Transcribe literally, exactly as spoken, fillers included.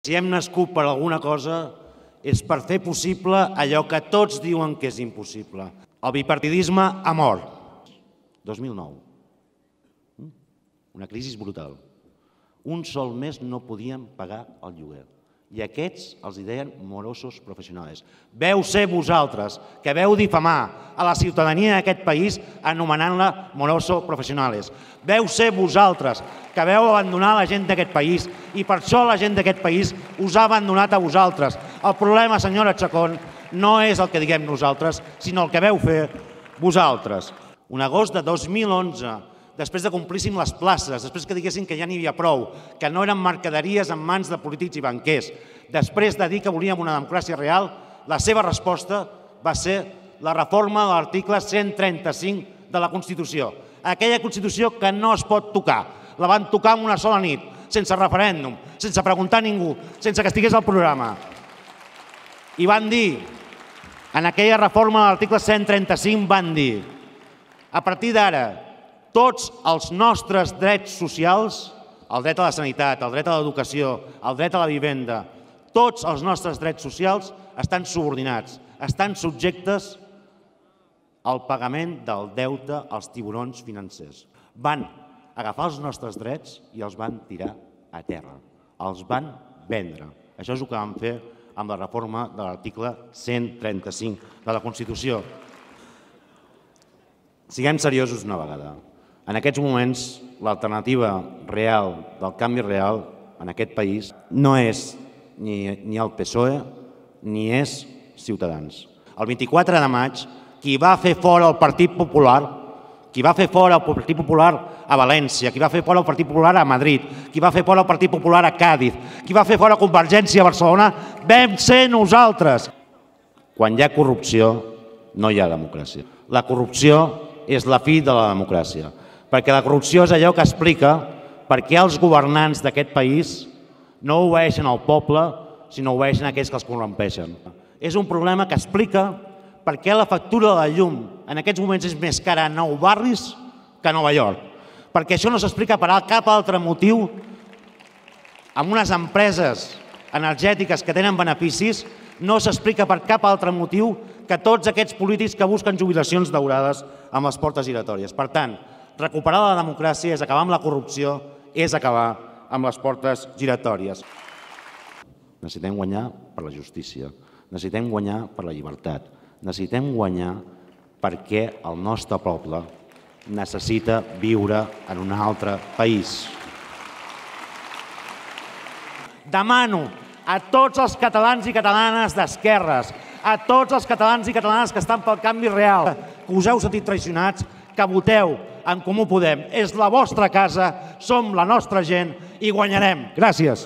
Si hem nascut per alguna cosa és per fer possible allò que tots diuen que és impossible. El bipartidisme ha mort. dos mil nou. Una crisi brutal. Un sol mes no podíem pagar el lloguer. I aquests els deien morosos professionals. Veu ser vosaltres que veu difamar a la ciutadania d'aquest país anomenant-la morosos professionals. Veu ser vosaltres que veu abandonar la gent d'aquest país i per això la gent d'aquest país us ha abandonat a vosaltres. El problema, senyora Chacón, no és el que diguem nosaltres, sinó el que veu fer vosaltres. Un agost de dos mil onze, després de complíssim les places, després que diguessin que ja n'hi havia prou, que no eren mercaderies en mans de polítics i banquers, després de dir que volíem una democràcia real, la seva resposta va ser la reforma de l'article cent trenta-cinc de la Constitució. Aquella Constitució que no es pot tocar. La van tocar en una sola nit, sense referèndum, sense preguntar a ningú, sense que estigués al programa. I van dir, en aquella reforma de l'article cent trenta-cinc van dir, a partir d'ara, tots els nostres drets socials, el dret a la sanitat, el dret a l'educació, el dret a la vivenda, tots els nostres drets socials estan subordinats, estan subjectes al pagament del deute als tiburons financers. Van agafar els nostres drets i els van tirar a terra. Els van vendre. Això és el que van fer amb la reforma de l'article cent trenta-cinc de la Constitució. Siguem seriosos una vegada. En aquests moments, l'alternativa real del canvi real en aquest país no és ni el P S O E ni és Ciutadans. El vint-i-quatre de maig, qui va fer fora el Partit Popular, qui va fer fora el Partit Popular a València, qui va fer fora el Partit Popular a Madrid, qui va fer fora el Partit Popular a Càdiz, qui va fer fora Convergència a Barcelona, vam ser nosaltres. Quan hi ha corrupció, no hi ha democràcia. La corrupció és la fi de la democràcia, perquè la corrupció és allò que explica per què els governants d'aquest país no obeeixen al poble, sinó obeeixen a aquells que els corrompeixen. És un problema que explica per què la factura de la llum en aquests moments és més cara a Nou Barris que a Nova York. Perquè això no s'explica per cap altre motiu amb unes empreses energètiques que tenen beneficis, no s'explica per cap altre motiu que tots aquests polítics que busquen jubilacions daurades amb les portes giratòries. Per tant, recuperar la democràcia és acabar amb la corrupció, és acabar amb les portes giratòries. Necessitem guanyar per la justícia, necessitem guanyar per la llibertat, necessitem guanyar perquè el nostre poble necessita viure en un altre país. Demano a tots els catalans i catalanes d'esquerres, a tots els catalans i catalanes que estan pel canvi real, que us heu sentit traicionats, que voteu en Comú Podem. És la vostra casa, som la nostra gent i guanyarem. Gràcies.